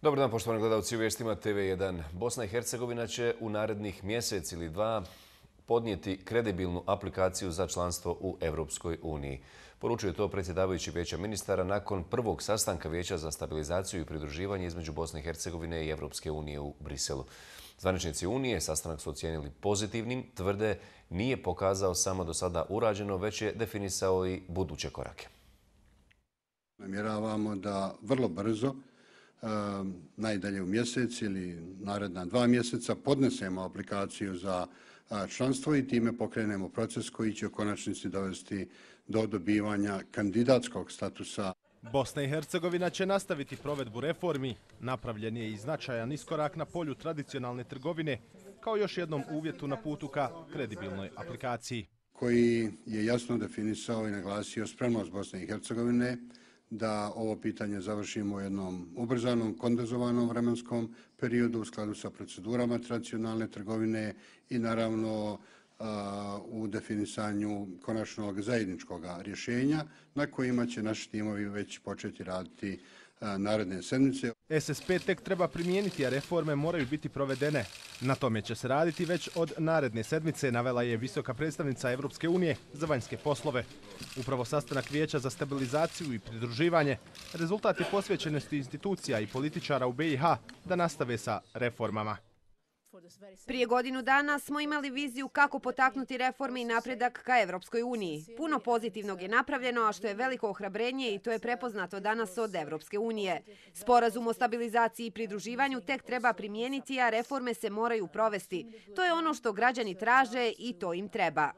Dobar dan, poštovani gledalci u vijestima TV1. Bosna i Hercegovina će u narednih mjesec ili dva podnijeti kredibilnu aplikaciju za članstvo u Europskoj uniji. Poručuje to predsjedavajući Vijeća ministara nakon prvog sastanka Vijeća za stabilizaciju i pridruživanje između Bosne i Hercegovine i Europske unije u Briselu. Zvaničnici Unije sastanak su ocijenili pozitivnim, tvrde nije pokazao samo do sada urađeno, već je definisao i buduće korake. Namjeravamo da vrlo brzo, najdalje u mjesec ili naredna 2 mjeseca, podnesemo aplikaciju za članstvo i time pokrenemo proces koji će u konačnici dovesti do dobivanja kandidatskog statusa. Bosna i Hercegovina će nastaviti provedbu reformi. Napravljen je i značajan iskorak na polju tradicionalne trgovine, kao još jednom uvjetu na putu ka kredibilnoj aplikaciji. Koji je jasno definisao i naglasio spremnost Bosne i Hercegovine da ovo pitanje završimo u jednom ubrzanom, kondenzovanom vremenskom periodu u skladu sa procedurama tradicionalne trgovine i naravno u definisanju konačnog zajedničkog rješenja na kojima će naši timovi već početi raditi naredne sedmice. SSP tek treba primijeniti, a reforme moraju biti provedene. Na tome će se raditi već od naredne sedmice, navela je visoka predstavnica Europske unije za vanjske poslove. Upravo sastanak Vijeća za stabilizaciju i pridruživanje rezultat je posvećenosti institucija i političara u BiH da nastave sa reformama. Prije godinu dana smo imali viziju kako potaknuti reforme i napredak ka Evropskoj uniji. Puno pozitivnog je napravljeno, a što je veliko ohrabrenje i to je prepoznato danas od Evropske unije. Sporazum o stabilizaciji i pridruživanju tek treba primijeniti, a reforme se moraju provesti. To je ono što građani traže i to im treba.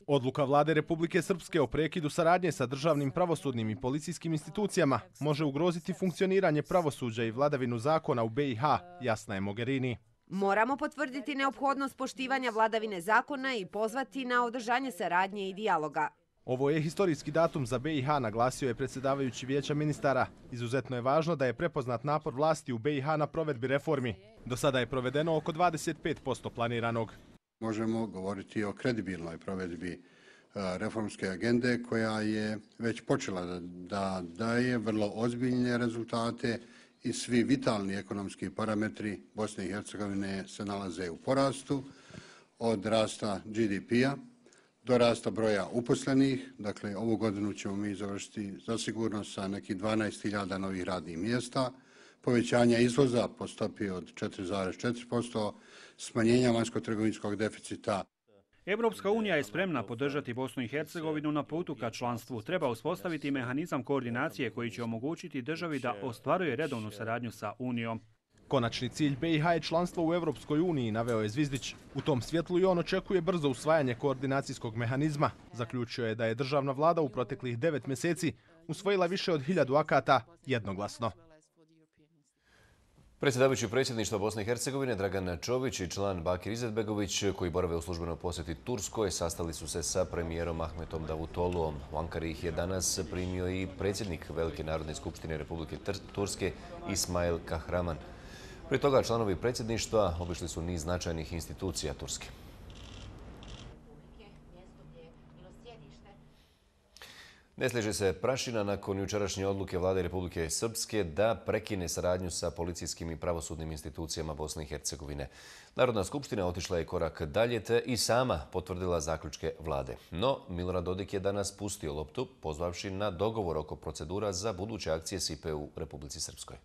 Odluka Vlade Republike Srpske o prekidu saradnje sa državnim pravosudnim i policijskim institucijama može ugroziti funkcioniranje pravosuđa i vladavinu zakona u BiH, jasna je Mogherini. Moramo potvrditi neophodnost poštivanja vladavine zakona i pozvati na održanje saradnje i dijaloga. Ovo je historijski datum za BiH, naglasio je predsjedavajući Vijeća ministara. Izuzetno je važno da je prepoznat napor vlasti u BiH na provedbi reformi. Do sada je provedeno oko 25% planiranog. Možemo govoriti o kredibilnoj provedbi reformske agende koja je već počela da daje vrlo ozbiljne rezultate i svi vitalni ekonomski parametri Bosne i Hercegovine se nalaze u porastu, od rasta GDP-a do rasta broja uposlenih. Dakle, ovu godinu ćemo mi završiti zasigurno sa nekih 12.000 novih radnih mjesta, povećanja izvoza po stopi od 4,4%, smanjenja vanjsko-trgovinskog deficita. Europska unija je spremna podržati Bosnu i Hercegovinu na putu ka članstvu. Treba uspostaviti mehanizam koordinacije koji će omogućiti državi da ostvaruje redovnu saradnju sa Unijom. Konačni cilj BiH je članstvo u Europskoj uniji, naveo je Zvizdić. U tom svjetlu i on očekuje brzo usvajanje koordinacijskog mehanizma. Zaključio je da je državna vlada u proteklih 9 mjeseci usvojila više od 1000 akata jednoglasno. Predsjedavajući predsjedništva Bosne i Hercegovine Dragan Čović i član Bakir Izetbegović, koji borave u službenoj posjeti Turskoj, sastali su se sa premijerom Ahmetom Davutogluom. U Ankari ih je danas primio i predsjednik Velike narodne skupštine Republike Turske Ismail Kahraman. Prije toga članovi predsjedništva obišli su niz značajnih institucija Turske. Ne sliježe se prašina nakon jučerašnje odluke Vlade Republike Srpske da prekine saradnju sa policijskim i pravosudnim institucijama Bosne i Hercegovine. Narodna skupština otišla je korak dalje te i sama potvrdila zaključke vlade. No, Milorad Dodik je danas pustio loptu, pozvavši na dogovor oko procedura za buduće akcije SIPE u Republici Srpskoj.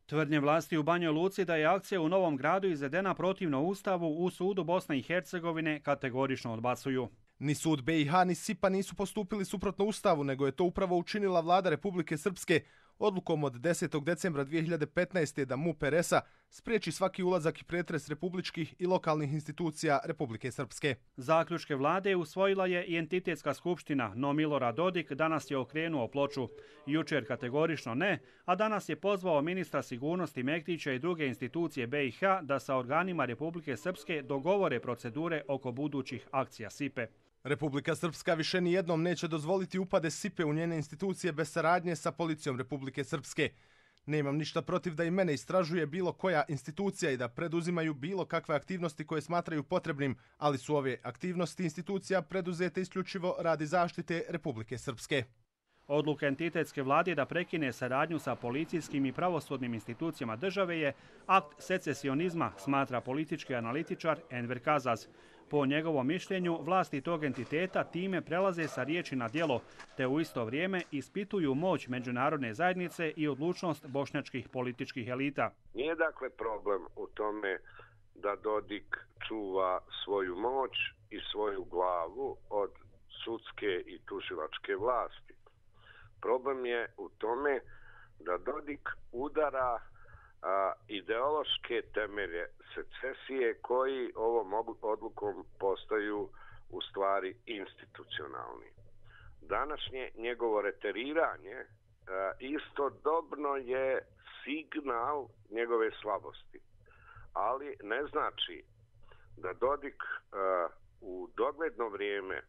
Tvrdnje vlasti u Banjoj Luci da je akcija u Novom Gradu izvedena protivno Ustavu u sudu Bosne i Hercegovine kategorično odbacuju. Ni sud BiH ni SIPA nisu postupili suprotno Ustavu, nego je to upravo učinila vlada Republike Srpske odlukom od 10. decembra 2015. da MUP RS-a spriječi svaki ulazak i pretres republičkih i lokalnih institucija Republike Srpske. Zaključke vlade usvojila je i entitetska skupština, no Milorad Dodik danas je okrenuo ploču. Jučer kategorično ne, a danas je pozvao ministra sigurnosti Mektića i druge institucije BiH da sa organima Republike Srpske dogovore procedure oko budućih akcija SIPE. Republika Srpska više nijednom neće dozvoliti upade SIPE u njene institucije bez saradnje sa policijom Republike Srpske. Nemam ništa protiv da i mene istražuje bilo koja institucija i da preduzimaju bilo kakve aktivnosti koje smatraju potrebnim, ali su ove aktivnosti institucija preduzete isključivo radi zaštite Republike Srpske. Odluka entitetske vlade da prekine saradnju sa policijskim i pravosudnim institucijama države je akt secesionizma, smatra politički analitičar Enver Kazaz. Po njegovom mišljenju, vlasti tog entiteta time prelaze sa riječi na djelo, te u isto vrijeme ispituju moć međunarodne zajednice i odlučnost bošnjačkih političkih elita. Nije dakle problem u tome da Dodik čuva svoju moć i svoju glavu od sudske i tužilačke vlasti. Problem je u tome da Dodik udara ideološke temelje secesije koji ovom odlukom postaju u stvari institucionalni. Današnje njegovo reteriranje istodobno je signal njegove slabosti, ali ne znači da Dodik u dogledno vrijeme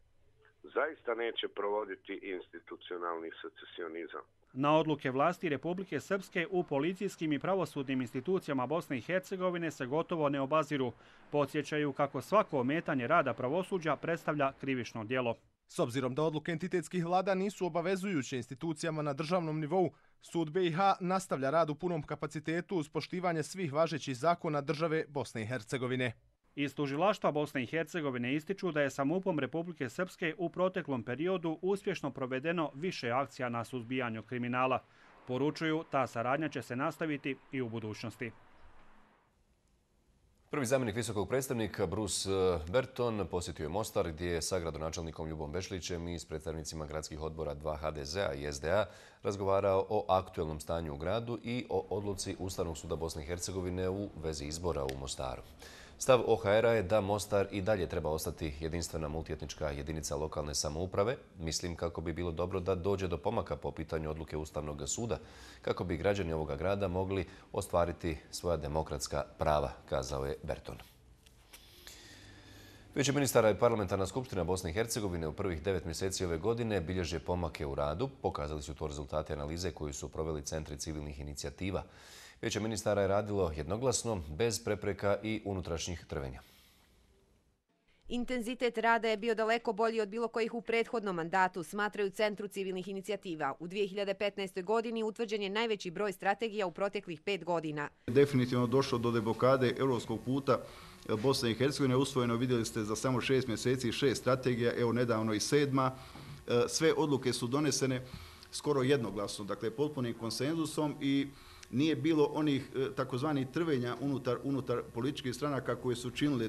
zaista neće provoditi institucionalni secesionizam. Na odluke vlasti Republike Srpske u policijskim i pravosudnim institucijama Bosne i Hercegovine se gotovo ne obaziru. Podsjećaju kako svako ometanje rada pravosuđa predstavlja krivično djelo. S obzirom da odluke entitetskih vlada nisu obavezujuće institucijama na državnom nivou, sud BiH nastavlja rad u punom kapacitetu uz poštivanje svih važećih zakona države Bosne i Hercegovine. Iz tužilaštva Bosne i Hercegovine ističu da je sa MUP-om Republike Srpske u proteklom periodu uspješno provedeno više akcija na suzbijanju kriminala. Poručuju, ta saradnja će se nastaviti i u budućnosti. Prvi zamjenik visokog predstavnika Bruce Berton posjetio je Mostar gdje je sa gradonačelnikom Ljubom Bešlićem i s predstavnicima gradskih odbora 2 HDZ-a i SDA razgovarao o aktuelnom stanju u gradu i o odluci Ustavnog suda Bosne i Hercegovine u vezi izbora u Mostaru. Stav OHR-a je da Mostar i dalje treba ostati jedinstvena multietnička jedinica lokalne samouprave. Mislim kako bi bilo dobro da dođe do pomaka po pitanju odluke Ustavnog suda, kako bi građani ovoga grada mogli ostvariti svoja demokratska prava, kazao je Berton. Vijeće ministara i parlamentarna skupština Bosne i Hercegovine u prvih 9 mjeseci ove godine bilježe pomake u radu. Pokazali su to rezultati analize koju su proveli centri civilnih inicijativa. Vijeće ministara je radilo jednoglasno, bez prepreka i unutrašnjih trvenja. Intenzitet rada je bio daleko bolji od bilo kojih u prethodnom mandatu, smatraju Centru civilnih inicijativa. U 2015. godini utvrđen je najveći broj strategija u proteklih 5 godina. Definitivno došlo do deblokade europskog puta Bosne i Hercegovine. Usvojeno, vidjeli ste, za samo 6 mjeseci 6 strategija, evo nedavno i 7. Sve odluke su donesene skoro jednoglasno, dakle potpunim konsenzusom i nije bilo onih takozvanih trvenja unutar političkih stranaka koje su činile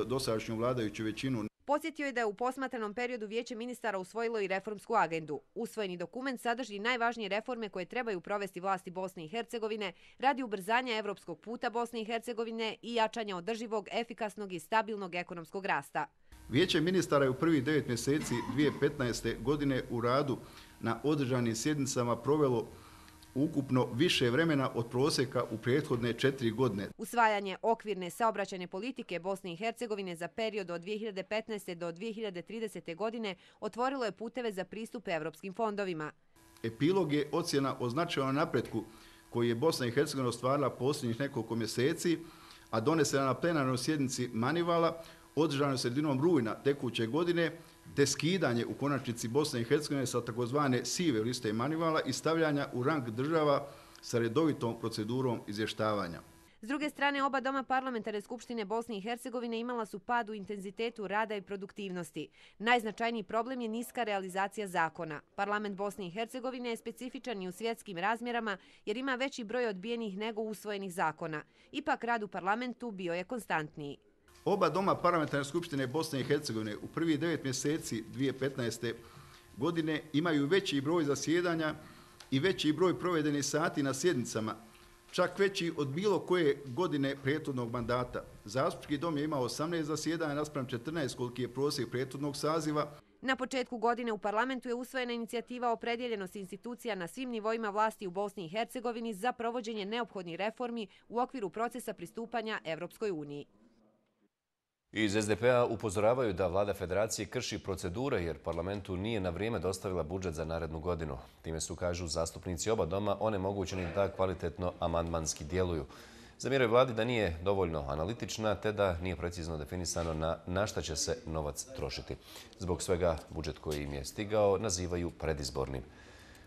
dosadašnju vladajuću većinu. Podsjetio je da je u posmatranom periodu Vijeće ministara usvojilo i reformsku agendu. Usvojeni dokument sadrži najvažnije reforme koje trebaju provesti vlasti Bosne i Hercegovine radi ubrzanja evropskog puta Bosne i Hercegovine i jačanja održivog, efikasnog i stabilnog ekonomskog rasta. Vijeće ministara je u prvih 9 mjeseci 2015. godine u radu na održanim sjednicama provelo ukupno više vremena od prosjeka u prethodne 4 godine. Usvajanje okvirne saobraćajne politike Bosne i Hercegovine za period od 2015. do 2030. godine otvorilo je puteve za pristup evropskim fondovima. Epilog je ocjena o značajnom napretku koji je Bosna i Hercegovina ostvarila posljednjih nekoliko mjeseci, a donesena na plenarnoj sjednici Manivala, održanoj sredinom rujna tekuće godine, te skidanje u konačnici Bosne i Hercegovine sa takozvane sive liste Manivala i stavljanja u rang država sa redovitom procedurom izvještavanja. S druge strane, oba doma parlamentarne skupštine Bosne i Hercegovine imala su pad u intenzitetu rada i produktivnosti. Najznačajniji problem je niska realizacija zakona. Parlament Bosne i Hercegovine je specifičan i u svjetskim razmjerama jer ima veći broj odbijenih nego usvojenih zakona. Ipak rad u parlamentu bio je konstantniji. Oba doma parlamentarne skupštine Bosne i Hercegovine u prvih 9 mjeseci 2015. godine imaju veći broj zasjedanja i veći broj provedenih sati na sjednicama, čak veći od bilo koje godine prethodnog mandata. Zastupnički dom je imao 18 zasjedanja naspram 14 koliki je prosjek prethodnog saziva. Na početku godine u parlamentu je usvojena inicijativa o opredjeljenosti institucija na svim nivoima vlasti u Bosni i Hercegovini za provođenje neophodnih reformi u okviru procesa pristupanja Evropskoj uniji. Iz SDP-a upozoravaju da vlada federacije krši procedure jer parlamentu nije na vrijeme dostavila budžet za narednu godinu. Time su, kažu zastupnici oba doma, onemogućeni da kvalitetno amandmanski djeluju. Zamjeraju vladi da nije dovoljno analitična te da nije precizno definisano na šta će se novac trošiti. Zbog svega budžet koji im je stigao nazivaju predizbornim.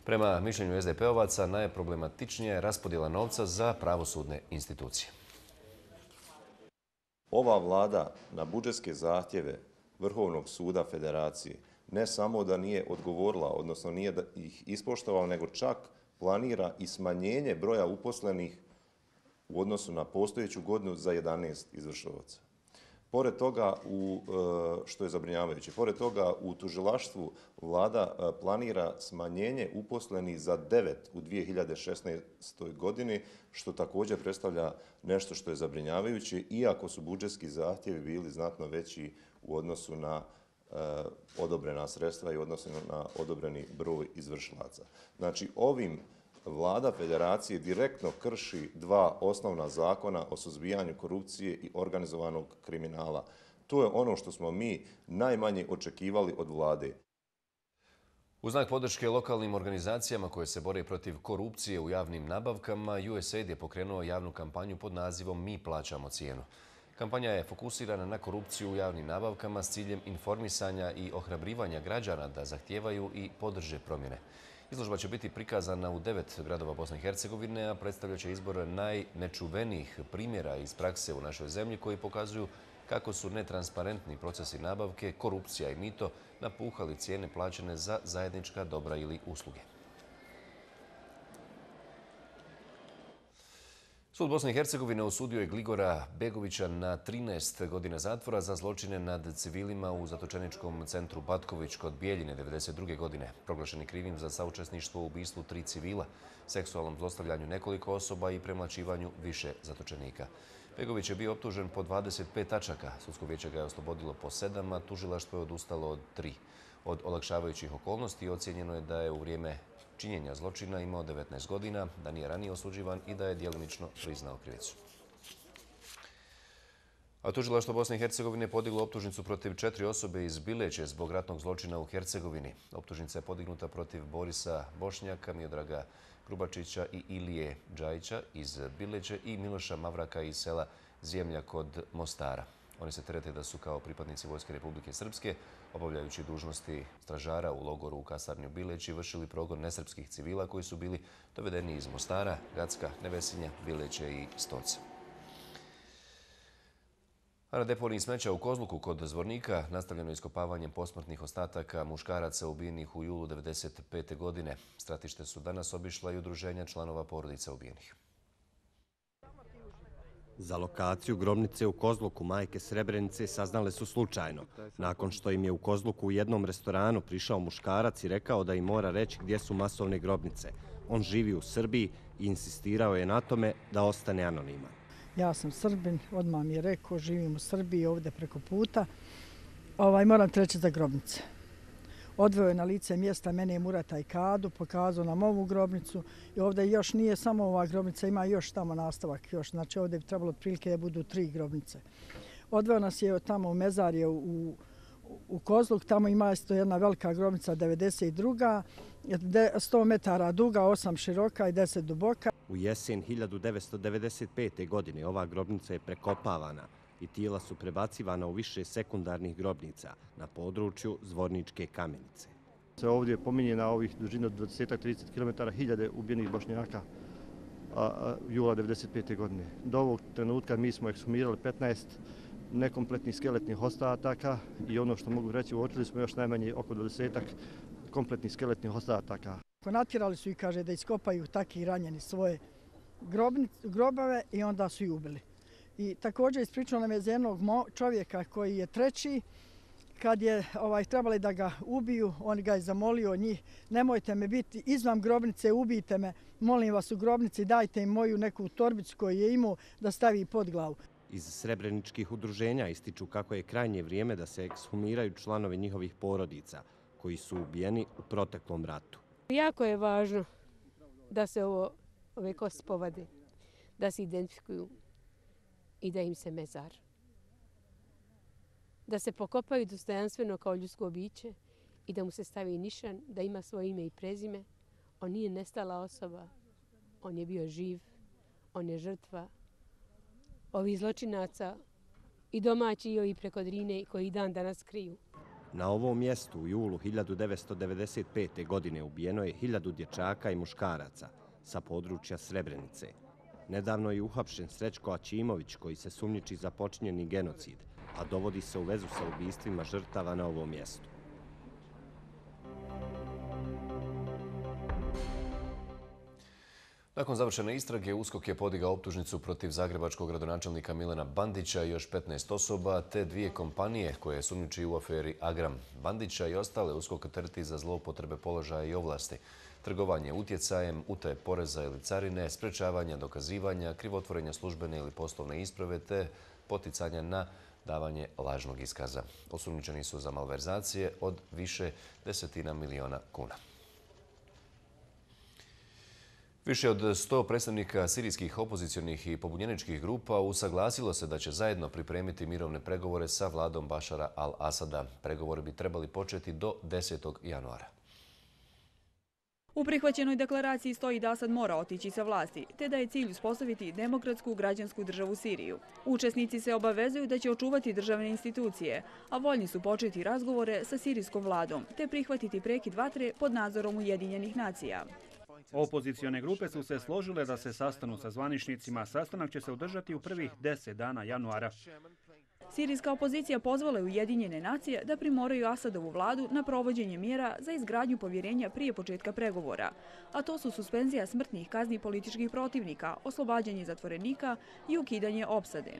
Prema mišljenju SDP-ovaca najproblematičnija je raspodjela novca za pravosudne institucije. Ova vlada na budžetske zahtjeve Vrhovnog suda Federacije ne samo da nije odgovorila, odnosno nije da ih ispoštovala, nego čak planira i smanjenje broja uposlenih u odnosu na postojeću godinu za 11 izvršilaca. Pored toga, što je zabrinjavajuće, pored toga u tužilaštvu vlada planira smanjenje uposlenih za 9 u 2016. godini, što također predstavlja nešto što je zabrinjavajuće, iako su budžetski zahtjevi bili znatno veći u odnosu na odobrena sredstva i u odnosu na odobreni broj izvršilaca. Znači, ovim Vlada Federacije direktno krši dva osnovna zakona o suzbijanju korupcije i organizovanog kriminala. To je ono što smo mi najmanje očekivali od vlade. U znak podrške lokalnim organizacijama koje se bore protiv korupcije u javnim nabavkama, USAID je pokrenuo javnu kampanju pod nazivom Mi plaćamo cijenu. Kampanja je fokusirana na korupciju u javnim nabavkama s ciljem informisanja i ohrabrivanja građana da zahtijevaju i podrže promjene. Izložba će biti prikazana u 9 gradova Bosne i Hercegovine, a predstavljat će izbor najnečuvenijih primjera iz prakse u našoj zemlji koji pokazuju kako su netransparentni procesi nabavke, korupcija i mito napuhali cijene plaćene za zajednička dobra ili usluge. Sud Bosne i Hercegovine osudio je Gligora Begovića na 13 godina zatvora za zločine nad civilima u zatočeničkom centru Batković kod Bijeljine 1992. godine. Proglašen je krivim za saučesništvo u ubistvu 3 civila, seksualnom zlostavljanju nekoliko osoba i premlaćivanju više zatočenika. Begović je bio optužen po 25 tačaka. Sudsko vijeće ga je oslobodilo po 7, a tužilaštvo je odustalo od 3. Od olakšavajućih okolnosti ocijenjeno je da je u vrijeme činjenja zločina imao 19 godina, da nije ranije osuđivan i da je djelomično priznao krivicu. A tužilaštvo Bosne i Hercegovine podiglo optužnicu protiv 4 osobe iz Bileće zbog ratnog zločina u Hercegovini. Optužnica je podignuta protiv Borisa Bošnjaka, Miodraga Grubačića i Ilije Džajića iz Bileće i Miloša Mavraka iz sela Zemlja kod Mostara. Oni se terete da su kao pripadnici Vojske Republike Srpske, obavljajući dužnosti stražara u logoru u kasarni u Bileći, vršili progon nesrpskih civila koji su bili dovedeni iz Mostara, Gacka, Nevesinja, Bileće i Stoca. A na deponiji smeća u Kozluku kod Zvornika nastavljeno iskopavanjem posmrtnih ostataka muškaraca ubijenih u julu 1995. godine. Stratište su danas obišla i udruženja članova porodica ubijenih. Za lokaciju grobnice u Kozluku majke Srebrenice saznale su slučajno, nakon što im je u Kozluku u jednom restoranu prišao muškarac i rekao da im mora reći gdje su masovne grobnice. On živi u Srbiji i insistirao je na tome da ostane anoniman. Ja sam Srbin, odmah mi je rekao, živim u Srbiji, ovdje preko puta. Moram treći za grobnice. Odveo je na lice mjesta mene, Murata i Kadu, pokazao nam ovu grobnicu i ovdje još nije samo ova grobnica, ima još tamo nastavak. Znači ovdje bi trebalo otprilike da budu 3 grobnice. Odveo nas je tamo u mezarje u Kozluk, tamo ima isto jedna velika grobnica 92. 100 metara duga, 8 široka i 10 duboka. U jesen 1995. godine ova grobnica je prekopavana i tijela su prebacivana u više sekundarnih grobnica na području Zvorničke Kamenice. Se ovdje pominje na ovih dužina od 20-30 km hiljade ubijenih Bošnjaka jula 1995. godine. Do ovog trenutka mi smo ekshumirali 15 nekompletnih skeletnih ostataka i ono što mogu reći, uočili smo još najmanje oko 20 kompletnih skeletnih ostataka. Natjerali su ih, kaže, da iskopaju takvi ranjeni svoje grobove i onda su ih ubili. I također ispričao nam je za jednog čovjeka koji je treći, kad je trebali da ga ubiju, on ga je zamolio njih, nemojte me biti izvan grobnice, ubijte me, molim vas u grobnici, dajte im moju neku torbicu koju je imao da stavi pod glavu. Iz srebreničkih udruženja ističu kako je krajnje vrijeme da se ekshumiraju članovi njihovih porodica koji su ubijeni u proteklom ratu. Jako je važno da se ove kosti povade, da se identifikuju i da im se mezar. Da se pokopaju dostojanstveno kao ljudsko biće i da mu se stavi nišan, da ima svoje ime i prezime. On nije nestala osoba, on je bio živ, on je žrtva, ovih zločinaca i domaći i ovi preko Drine koji dan danas kriju. Na ovom mjestu u julu 1995. godine ubijeno je 1000 dječaka i muškaraca sa područja Srebrenice. Nedavno je uhapšen Srećko Aćimović koji se sumnjiči za počinjeni genocid, a dovodi se u vezu sa ubistvima žrtava na ovom mjestu. Nakon završene istrage, USKOK je podigao optužnicu protiv zagrebačkog gradonačelnika Milana Bandića i još 15 osoba, te 2 kompanije koje sumnjiči u aferi Agram. Bandića i ostale USKOK tereti za zloupotrebe položaja i ovlasti, trgovanje utjecajem, utaje poreza ili carine, sprečavanja dokazivanja, krivotvorenja službene ili poslovne isprave te poticanja na davanje lažnog iskaza. Osumnjičeni su za malverzacije od više desetina miliona kuna. Više od 100 predstavnika sirijskih opozicionih i pobunjeničkih grupa usaglasilo se da će zajedno pripremiti mirovne pregovore sa vladom Bašara al-Asada. Pregovori bi trebali početi do 10. januara. U prihvaćenoj deklaraciji stoji da Asad mora otići sa vlasti, te da je cilj uspostaviti demokratsku građansku državu Siriju. Učesnici se obavezuju da će očuvati državne institucije, a voljni su početi razgovore sa sirijskom vladom, te prihvatiti prekid vatre pod nadzorom Ujedinjenih nacija. Opozicione grupe su se složile da se sastanu sa zvaničnicima. Sastanak će se održati u prvih 10 dana januara. Sirijska opozicija pozvala je Ujedinjene nacije da primoraju Asadovu vladu na provođenje mjera za izgradnju povjerenja prije početka pregovora, a to su suspenzija smrtnih kazni političkih protivnika, oslobađanje zatvorenika i ukidanje opsade.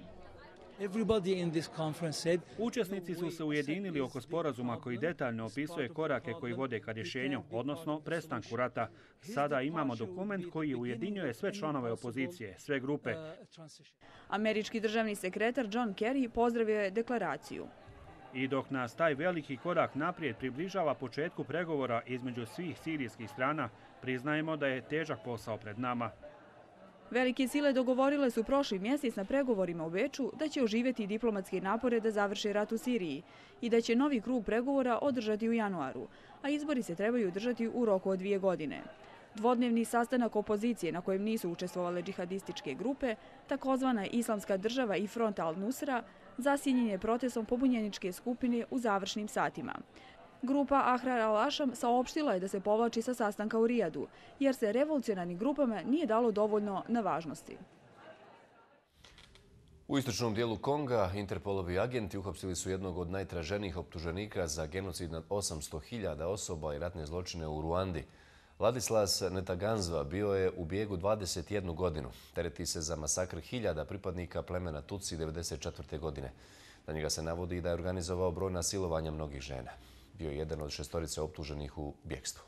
Učesnici su se ujedinili oko sporazuma koji detaljno opisuje korake koji vode ka rješenju, odnosno prestanku rata. Sada imamo dokument koji ujedinjuje sve članove opozicije, sve grupe. Američki državni sekretar John Kerry pozdravio je deklaraciju. I dok nas taj veliki korak naprijed približava početku pregovora između svih sirijskih strana, priznajemo da je težak posao pred nama. Velike sile dogovorile su prošli mjesec na pregovorima u Beču da će oživjeti diplomatske napore da završe rat u Siriji i da će novi krug pregovora održati u januaru, a izbori se trebaju održati u roku od 2 godine. Dvodnevni sastanak opozicije na kojem nisu učestvovale džihadističke grupe, takozvana Islamska država i Front al-Nusra, zasjenjen je protestom pobunjeničke skupine u završnim satima. Grupa Ahrar al-Ašam saopštila je da se povlači sa sastanka u Rijadu, jer se revolucionarnim grupama nije dalo dovoljno na važnosti. U istočnom dijelu Konga Interpolovi agenti uhapsili su jednog od najtraženijih optuženika za genocid nad 800.000 osoba i ratne zločine u Ruandi. Ladislas Netaganzva bio je u bijegu 21 godinu. Tereti se za masakr 1000 pripadnika plemena Tutsi 1994. godine. Na njega se navodi da je organizovao brojna silovanja mnogih žena. Bio je jedan od 6 optuženih u bjegstvu.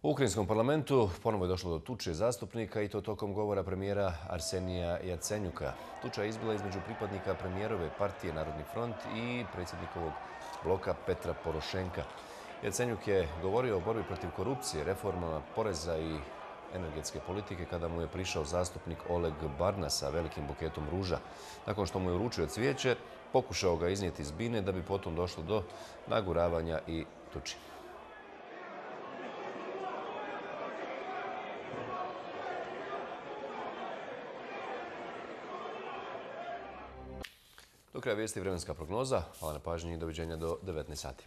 U ukrajinskom parlamentu ponovo je došlo do tuče zastupnika i to tokom govora premijera Arsenija Jacenjuka. Tuča je izbila između pripadnika premijerove partije Narodni front i predsjednikovog bloka Petra Porošenka. Jacenjuk je govorio o borbi protiv korupcije, reformama poreza i energetske politike kada mu je prišao zastupnik Oleg Barna sa velikim buketom ruža. Nakon što mu je uručio cvijeće, pokušao ga iznijeti iz bine da bi potom došlo do naguravanja i tuči. Do kraja vijesti vremenska prognoza. Hvala na pažnji i doviđenja do 19 sati.